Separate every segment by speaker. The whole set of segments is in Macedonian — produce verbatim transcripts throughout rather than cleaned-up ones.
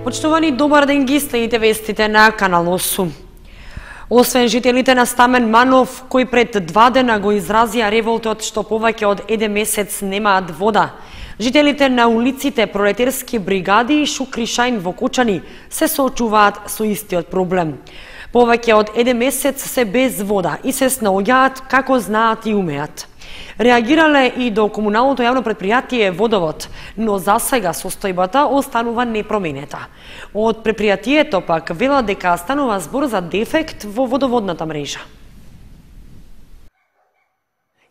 Speaker 1: Почитувани, добар ден, ги следите вестите на Канал осум. Освен жителите на Стамен Манов, кои пред два дена го изразија револтот што повеќе од еден месец немаат вода, жителите на улиците Пролетерски бригади и Шукришајн во Кочани се соочуваат со истиот проблем. Повеќе од еден месец се без вода и се снаоѓаат како знаат и умеат. Реагирале и до комуналното јавно предпријатие Водовод, но за сега состојбата останува непроменета. Од предпријатието пак велат дека станува збор за дефект во водоводната мрежа.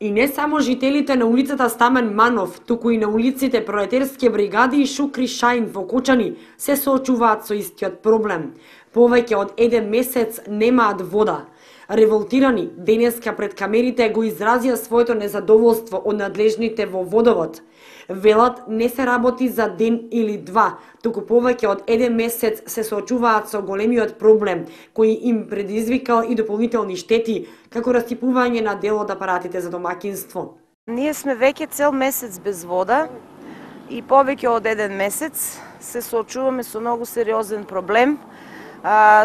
Speaker 1: И не само жителите на улицата Стамен Манов, туку и на улиците Пролетерски бригади и Шукришајн во Кочани се соочуваат со истиот проблем. Повеќе од еден месец немаат вода. Револтирани денеска пред камерите го изразија своето незадоволство од надлежните во Водовод. Велат не се работи за ден или два, туку повеќе од еден месец се соочуваат со големиот проблем, кој им предизвикал и дополнителни штети, како растипување на дел од апаратите за домакинство.
Speaker 2: Ние сме веќе цел месец без вода и повеќе од еден месец се соочуваме со многу сериозен проблем.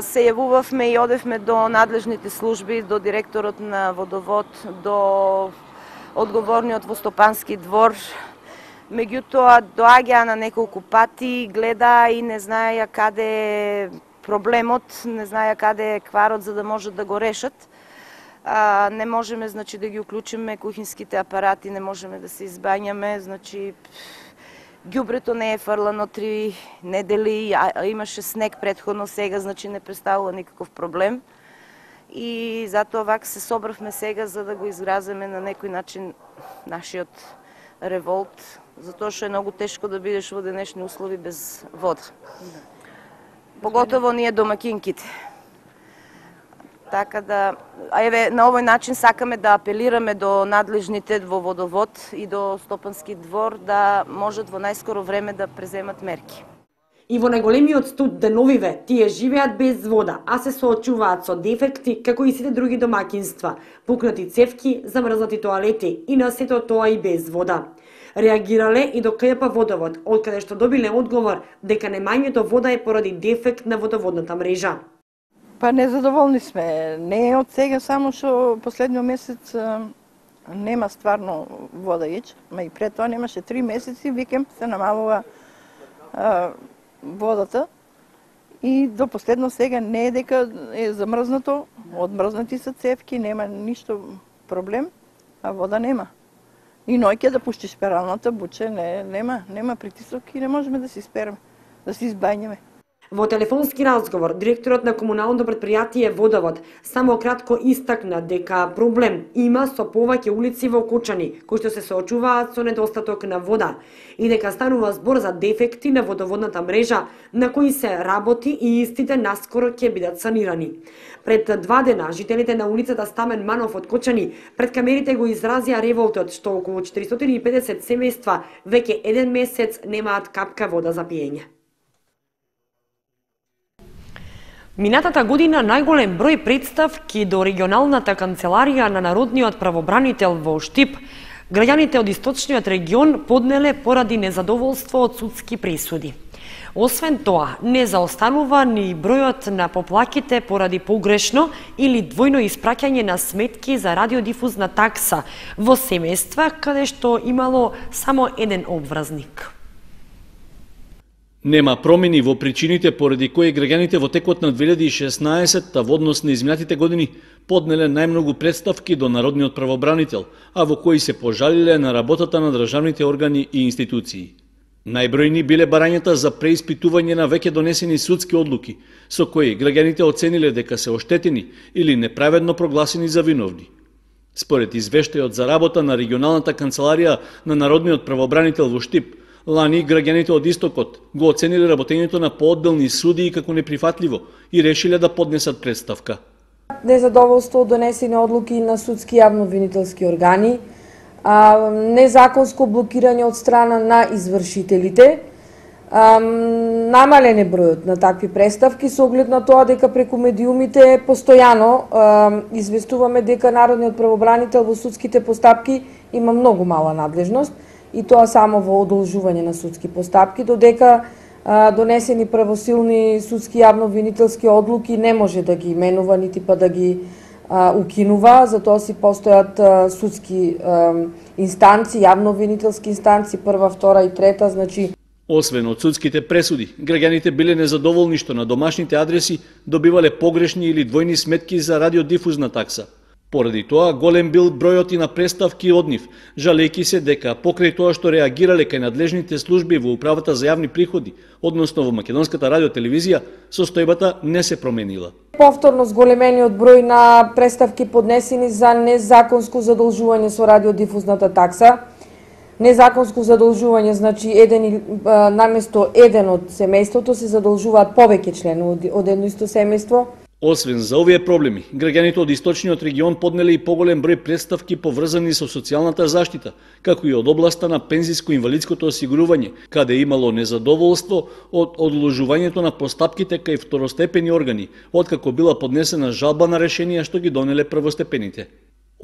Speaker 2: Се јавувавме и одевме до надлежните служби, до директорот на Водовод, до одговорниот во Стопански двор. Меѓутоа, доаѓаа на неколку пати, гледа и не знаеја каде е проблемот, не знаеја каде е кварот за да можат да го решат. А, не можеме, значи, да ги уклучиме кухинските апарати, не можеме да се избањаме, значи, ѓубрето не е фрлано три недели, а имаше снег претходно, сега значи не представува никаков проблем. И затоа вак се собравме сега за да го изразиме на некој начин нашиот револт, затоа што е многу тешко да бидеш во денешни услови без вода. Поготово ние домакинките. Така да, еве, на овој начин сакаме да апелираме до надлежните во Водовод и до Стопански двор да можат во најскоро време да преземат мерки.
Speaker 1: И во најголемиот студ деновиве тие живеат без вода, а се соочуваат со дефекти како и сите други домакинства, пукнати цевки, замрзнати тоалети и на сето тоа и без вода. Реагирале и до КЈП Водовод, од каде што добиле одговор дека немањето вода е поради дефект на водоводната мрежа.
Speaker 3: Па незадоволни сме. Не е од сега, само што последниот месец нема стварно вода ич, ма и пред тоа немаше три месеци, викем се намалува а, водата и до последно сега не е дека е замрзнато, одмрзнати се цевки, нема ништо проблем, а вода нема. И ноќе да пуштиш пералната буче, не, нема, нема притисок и не можеме да се испереме, да се избањаме.
Speaker 1: Во телефонски разговор, директорот на комуналното предпријатие Водовод само кратко истакна дека проблем има со повеќе улици во Кочани, кои што се соочуваат со недостаток на вода и дека станува збор за дефекти на водоводната мрежа на кои се работи и истите наскоро ќе бидат санирани. Пред два дена, жителите на улицата Стамен Манов од Кочани пред камерите го изразија револтот што околу четиристотини и педесет семејства веќе еден месец немаат капка вода за пиење. Минатата година најголем број представки до регионалната канцеларија на Народниот правобранител во Штип, граѓаните од источниот регион поднеле поради незадоволство од судски пресуди. Освен тоа, не заостанува ни бројот на поплаките поради погрешно или двојно испраќање на сметки за радиодифузна такса во семејства каде што имало само еден обврзник.
Speaker 4: Нема промени во причините поради кои граѓаните во текот на две илјади и шеснаесетта во однос на изминатите години поднеле најмногу представки до Народниот правобранител, а во кои се пожалиле на работата на државните органи и институции. Најбројни биле барањата за преиспитување на веќе донесени судски одлуки, со кои граѓаните оцениле дека се оштетени или неправедно прогласени за виновни. Според извештајот за работа на регионалната канцеларија на Народниот правобранител во Штип, лани граѓаните од Истокот го оцениле работењето на поодделни судии како неприфатливо и решиле да поднесат представка.
Speaker 5: Незадоволство од донесени одлуки на судски јавно-обвинителски органи, а, незаконско блокирање од страна на извршителите, а, намален е бројот на такви представки со оглед на тоа дека преку медиумите постојано а, известуваме дека Народниот правобранител во судските постапки има многу мала надлежност и тоа само во одолжување на судски постапки, додека донесени правосилни судски јавно-обвинителски одлуки не може да ги менува нити па да ги укинува, затоа си постојат судски инстанци, јавно-обвинителски инстанци, прва, втора и трета, значи.
Speaker 4: Освен од судските пресуди, граѓаните биле незадоволни што на домашните адреси добивале погрешни или двојни сметки за радиодифузна такса. Поради тоа, голем бил бројот и на преставки од нив, жалејќи се дека покрај тоа што реагирале кај надлежните служби во Управата за јавни приходи, односно во Македонската радиотелевизија, состојбата не се променила.
Speaker 5: Повторно зголемениот број на преставки поднесени за незаконско задолжување со радиодифузната такса. Незаконско задолжување значи еден наместо еден од семејството се задолжуваат повеќе членови од едно исто семејство.
Speaker 4: Освен за овие проблеми, граѓаните од источниот регион поднеле и поголем број представки поврзани со социјалната заштита, како и од областа на пензиско-инвалидското осигурување, каде имало незадоволство од одложувањето на постапките кај второстепени органи, откако била поднесена жалба на решенија што ги донеле првостепените.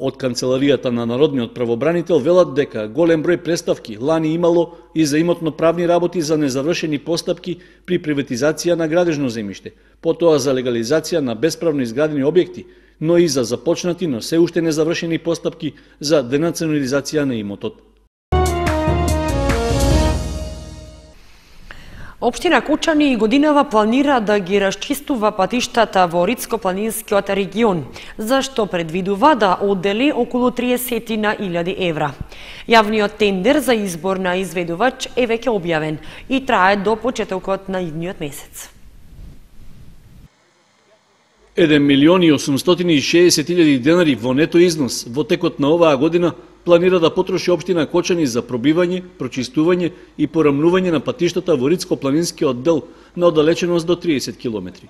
Speaker 4: Од Канцеларијата на Народниот правобранител велат дека голем број преставки лани имало и за имотно-правни работи за незавршени постапки при приватизација на градежно земјиште, потоа за легализација на бесправно изградени објекти, но и за започнати, но се уште незавршени постапки за денационализација на имотот.
Speaker 1: Општина Кучани годинава планира да ги расчистува патиштата во Рицко-планинскиот регион, за што предвидува да оддели околу триесет илјади евра. Јавниот тендер за избор на изведувач е веќе објавен и трае до почетокот на идниот месец.
Speaker 4: еден милион и осумстотини и шеесет илјади денари во нето износ во текот на оваа година планира да потроши општина Кочани за пробивање, прочистување и порамнување на патиштата во Рицко-планинскиот дел на оддалеченост до триесет километри.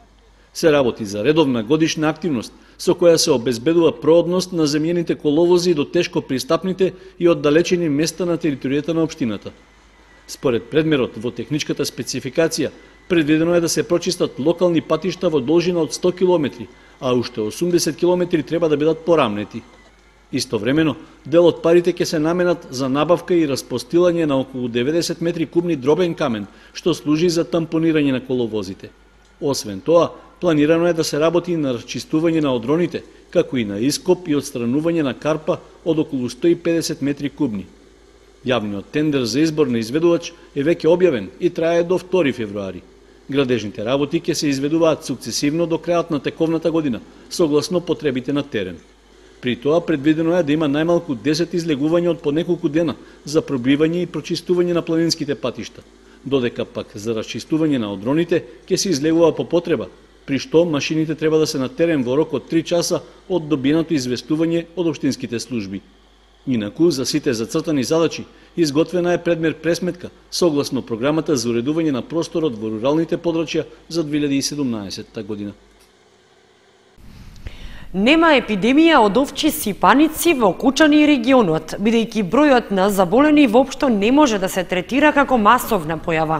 Speaker 4: Се работи за редовна годишна активност со која се обезбедува проодност на земјените коловози до тешко пристапните и оддалечени места на територијата на општината. Според предмерот во техничката спецификација, предвидено е да се прочистат локални патишта во должина од сто километри, а уште осумдесет километри треба да бидат порамнети. Истовремено, дел од парите ќе се наменат за набавка и распостилање на околу деветдесет метри кубни дробен камен, што служи за тампонирање на коловозите. Освен тоа, планирано е да се работи на расчистување на одроните, како и на ископ и отстранување на карпа од околу сто и педесет метри кубни. Јавниот тендер за избор на изведувач е веќе објавен и трае до втори февруари. Градежните работи ќе се изведуваат сукцесивно до крајот на тековната година, согласно потребите на терен. При тоа предвидено е да има најмалку десет излегувања од по неколку дена за пробивање и прочистување на планинските патишта, додека пак за расчистување на одроните ќе се излегува по потреба, при што машините треба да се на терен во рок од три часа од добиеното известување од општинските служби. Инаку, за сите зацртани задачи, изготвена е предмер пресметка согласно програмата за уредување на просторот во руралните подрачја за две илјади и седумнаесетта година.
Speaker 1: Нема епидемија од овчи сипаници во Кучани и регионот, бидејќи бројот на заболени воопшто не може да се третира како масовна појава.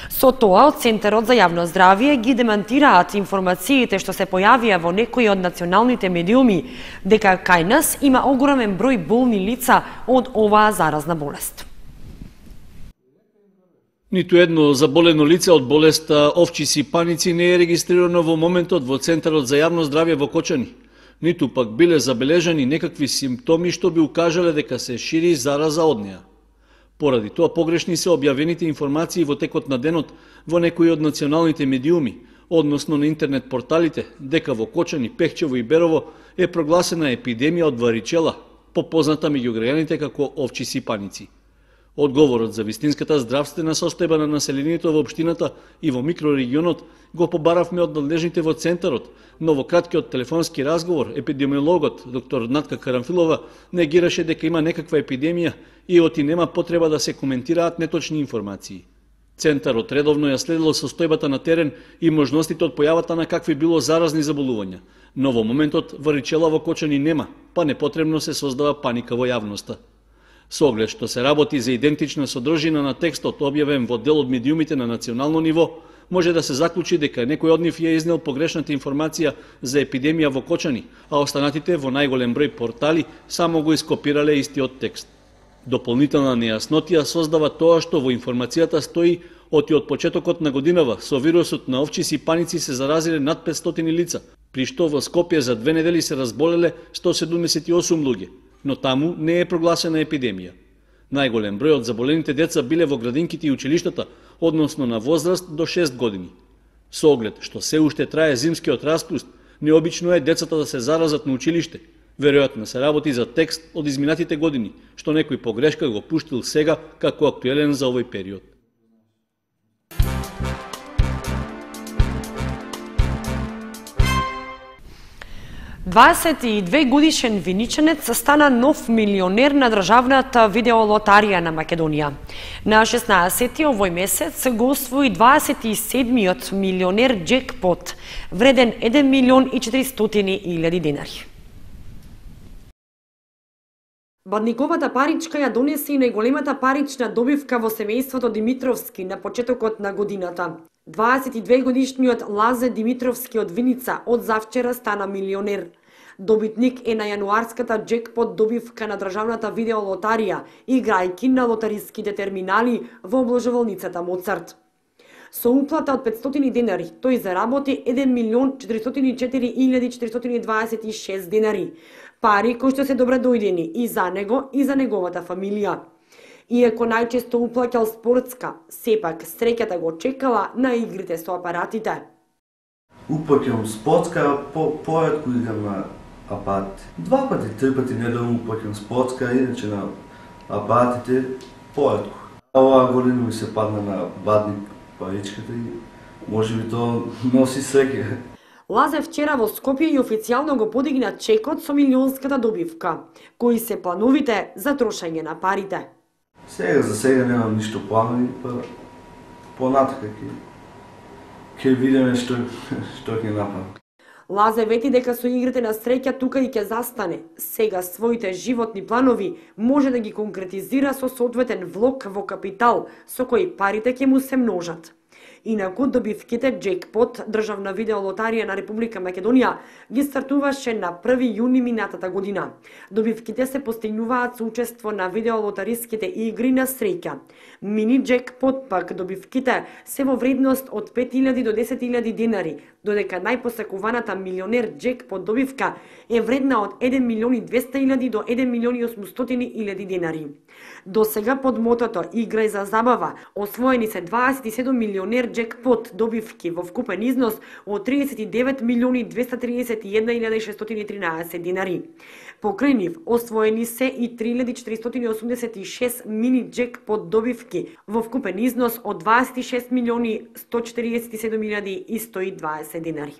Speaker 1: Со тоа, од Центарот за јавно здравје ги демантираат информациите што се појавија во некои од националните медиуми, дека кај нас има огромен број болни лица од оваа заразна болест.
Speaker 4: Ниту едно заболено лице од болеста овчи сипаници не е регистрирано во моментот во Центарот за јавно здравје во Кочани. Ниту пак биле забележани некакви симптоми што би укажале дека се шири зараза од неа. Поради тоа погрешни се објавените информации во текот на денот во некои од националните медиуми, односно на интернет порталите, дека во Кочани, Пехчево и Берово е прогласена епидемија од варичела, попозната меѓу граѓаните како овчи сипаници. Одговорот за вистинската здравствена состојба на населението во општината и во микрорегионот го побаравме од надлежните во Центарот, но во краткиот телефонски разговор епидемиологот доктор Натка Карамфилова негираше дека има некаква епидемија и оти нема потреба да се коментираат неточни информации. Центарот редовно ја следело состојбата на терен и можностите од појавата на какви било заразни заболувања, но во моментот варичела во Кочани нема, па непотребно се создава паника во јавноста. Со оглед што се работи за идентична содржина на текстот објавен во дел од медиумите на национално ниво, може да се заклучи дека некој од нив ја изнел погрешната информација за епидемија во Кочани, а останатите во најголем број портали само го ископирале истиот текст. Дополнителна нејаснотија создава тоа што во информацијата стои Оти од почетокот на годинава со вирусот на овчиси и паници се заразиле над петстотини лица, при што во Скопје за две недели се разболеле сто седумдесет и осум луѓе, но таму не е прогласена епидемија. Најголем број од заболените деца биле во градинките и училиштата, односно на возраст до шест години. Со оглед што се уште трае зимскиот распуст, необично е децата да се заразат на училиште. Веројатно се работи за текст од изминатите години, што некој погрешка го пуштил сега како актуелен за овој период.
Speaker 1: дваесет и две годишен виничанец стана нов милионер на државната видеолотарија на Македонија. На шеснаесети овој месец го освои дваесет и седмиот милионер джекпот, вреден еден милион и четиристотини илјади денари. Бадниковата паричка ја донесе и најголемата парична добивка во семејството Димитровски на почетокот на годината. дваесет и две годишниот Лазе Димитровски од Виница од завчера стана милионер. Добитник е на јануарската джекпот добивка на државната видеолотарија, играјки на лотариските терминали во обложувалницата Моцарт. Со уплата од петстотини денари, тој заработи еден милион четиристотини и четири илјади четиристотини и дваесет и шест денари. Пари кои што се добредојдени и за него и за неговата фамилија. Иако најчесто уплаќал спортска, сепак среќата го чекала на игрите со апаратите.
Speaker 6: Уплаќам спортска, по поредко играм на апарати. Два пати, три пати неделно уплаќам спортска, иначе на апаратите поредко. Оваа година ми се падна на бадник паричката и може би тоа носи среќа.
Speaker 1: Лазе вчера во Скопје и официјално го подигна чекот со милионската добивка. Кои се плановите за трошење на парите?
Speaker 6: Сега за сега немам ништо планови, па понатака ќе ќе видиме што што ќе направи.
Speaker 1: Лазе вети дека со игрите на среќа тука и ќе застане. Сега своите животни планови може да ги конкретизира со соодветен влог во капитал, со кој парите ќе му се множат. Инаку добивките джекпот, државна видеолотарија на Република Македонија, ги стартуваше на први јуни минатата година. Добивките се постигнуваат со учество на видеолотариските игри на среќа. Мини джекпот пак добивките се во вредност од пет илјади до десет илјади денари, додека најпосакуваната милионер джекпот добивка е вредна од еден милион и двесте илјади до еден милион и осумстотини илјади денари. До сега под мотото Играј за забава освоени се дваесет и седум милионер джекпот добивки во вкупен износ од триесет и девет милиони двесте триесет и една илјади шестстотини и тринаесет денари. Покрај нив освоени се и три илјади четиристотини и осумдесет и шест мини джекпот добивки во вкупен износ од дваесет и шест милиони сто четириесет и седум илјади и сто и дваесет денари.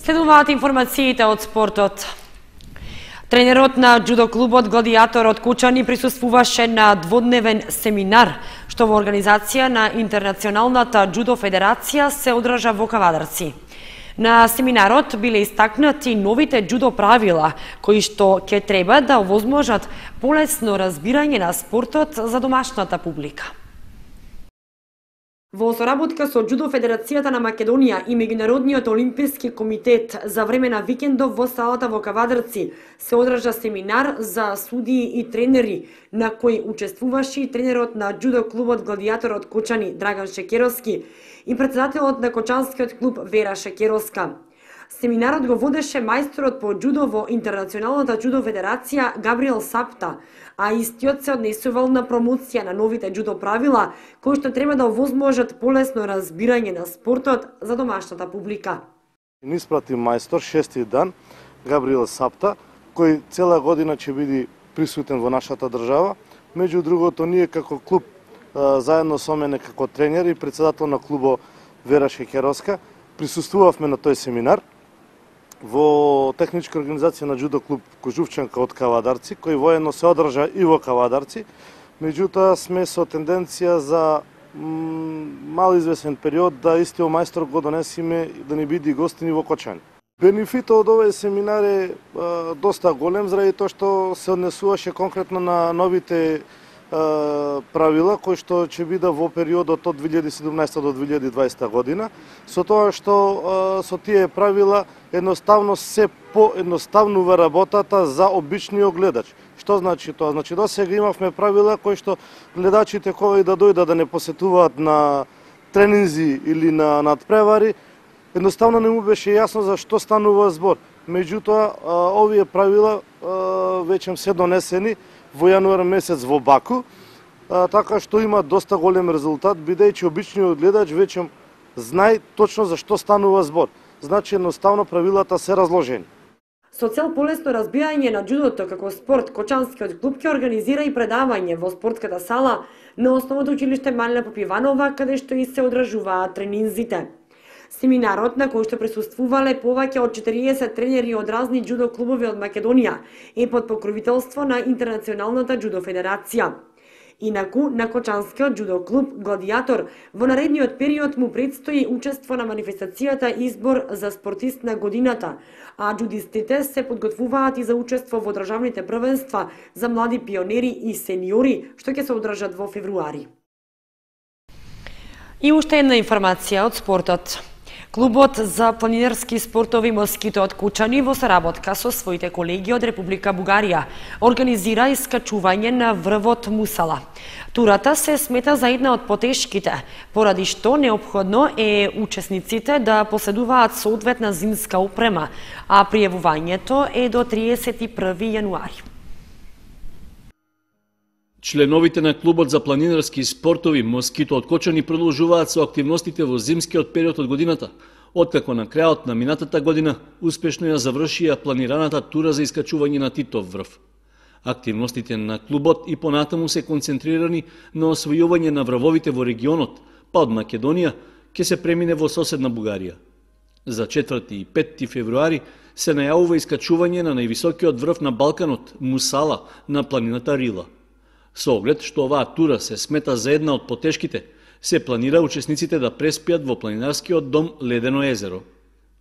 Speaker 1: Следуваат информациите од спортот. Тренерот на џудо клубот Гладиатор од Кучани присуствуваше на дводневен семинар, што во организација на Интернационалната џудо федерација се одржа во Кавадарци. На семинарот биле истакнати новите џудо правила, кои што ќе треба да овозможат полесно разбирање на спортот за домашната публика. Во соработка со Џудо Федерацијата на Македонија и Меѓународниот олимписки комитет за време на викендов во салата во Кавадарци се одржа семинар за судии и тренери, на кој учествуваше и тренерот на џудо клубот Гладиатор од Кучани Драган Шекеровски и председателот на Кочанскиот клуб Вера Шекеровска. Семинарот го водеше мајсторот по џудо во Интернационалната џудо федерација Габриел Сапта, а истиот се однесувал на промоција на новите џудо правила, кои што треба да овозможат полесно разбирање на спортот за домашната публика.
Speaker 7: Ни испрати мајстор шести дан, Габриел Сапта, кој цела година ќе биде присутен во нашата држава. Меѓу другото, ние како клуб, заедно со мене како тренер и председател на клубо Вера Шекеровска, присуствувавме на тој семинар во техничка организација на џудо клуб Кожувчанка од Кавадарци, кој воено се одржа и во Кавадарци. Меѓутоа сме со тенденција за мал извесен период да истиот мајстор го донесиме да ни биде гостини во Кочани. Бенефитот од овој семинар е а, доста голем, заради тоа што се однесуваше конкретно на новите правила кои што ќе биде во периодот од две илјади и седумнаесета до две илјади и дваесета година, со тоа што со тие правила едноставно се поедноставнува работата за обичниот гледач. Што значи тоа? Значи до сега имавме правила кои што гледачите кога и да дојдат да не посетуваат на тренинзи или на надпревари, едноставно не му беше јасно за што станува збор. Меѓутоа, овие правила веќе се донесени во јануар месец во Баку, така што има доста голем резултат, бидејќи обичниот гледач веќе знае точно за што станува збор. Значи, едноставно правилата се разложени.
Speaker 1: Со цел полесно разбирање на џудото како спорт, Кочанскиот клуб ќе организира и предавање во спортската сала на Основното училиште Малина Попиванова, каде што и се одржуваат тренинзите. Семинарот, на кој што присуствувале повеќе од четириесет тренери од разни џудо клубови од Македонија, е под покровителство на Интернационалната џудо федерација. Инаку, на Кочанскиот џудо клуб Гладиатор во наредниот период му предстои учество на манифестацијата избор за спортист на годината, а џудистите се подготвуваат и за учество во државните првенства за млади пионери и сениори, што ќе се одржат во февруари. И уште една информација од спортот. Клубот за планинарски спортови Москито од Кучани во соработка со своите колеги од Република Бугарија организира искачување на врвот Мусала. Турата се смета за една од потешките, поради што неопходно е учесниците да поседуваат соодветна зимска опрема, а пријавувањето е до триесет и први јануари.
Speaker 4: Членовите на клубот за планинарски спортови Москито од Кочани продолжуваат со активностите во зимскиот период од годината, откако на крајот на минатата година успешно ја завршија планираната тура за искачување на Титов врв. Активностите на клубот и понатаму се концентрирани на освојување на врвовите во регионот, па од Македонија ќе се премине во соседна Бугарија. За четврти и петти февруари се најавува искачување на највисокиот врв на Балканот, Мусала, на планината Рила. Со оглед што оваа тура се смета за една од потешките, се планира учесниците да преспијат во планинарскиот дом Ледено езеро.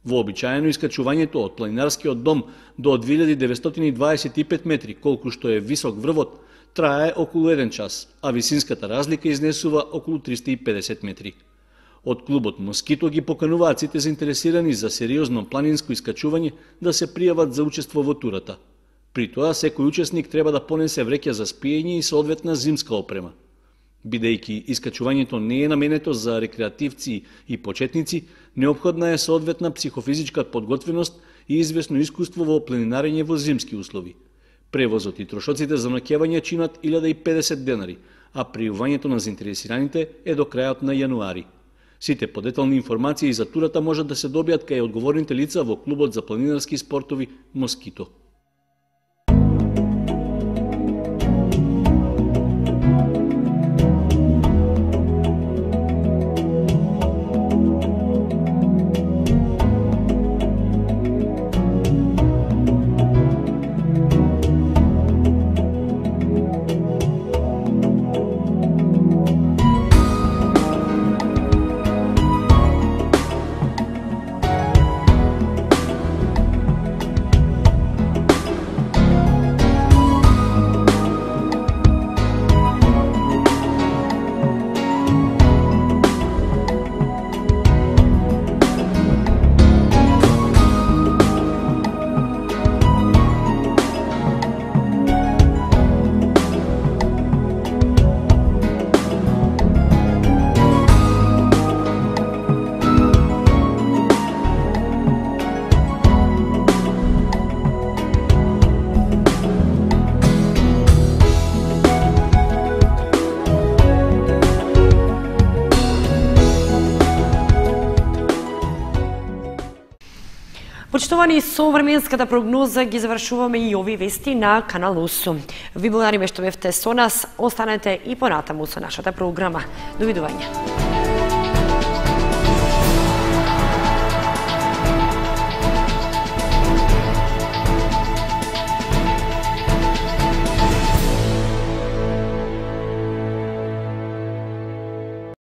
Speaker 4: Вообичаено искачувањето од планинарскиот дом до две илјади деветстотини и дваесет и пет метри, колку што е висок врвот, трае околу еден час, а висинската разлика изнесува околу триста и педесет метри. Од клубот Москито ги покануваат сите заинтересирани за сериозно планинско искачување да се пријават за учество во турата. При тоа, секој учесник треба да понесе вреќа за спиење и соодветна зимска опрема. Бидејќи искачувањето не е наменето за рекреативци и почетници, неопходна е соодветна психофизичка подготвеност и известно искуство во планинарење во зимски услови. Превозот и трошоците за ноќевање чинат илјада и педесет денари, а пријавувањето на заинтересираните е до крајот на јануари. Сите подетални информации за турата можат да се добијат кај одговорните лица во клубот за планинарски спортови Москито.
Speaker 1: Почитувани, со временската прогноза ги завршуваме и овие вести на Канал осум. Ви благодариме што бевте со нас, останете и понатаму со нашата програма. Довидување.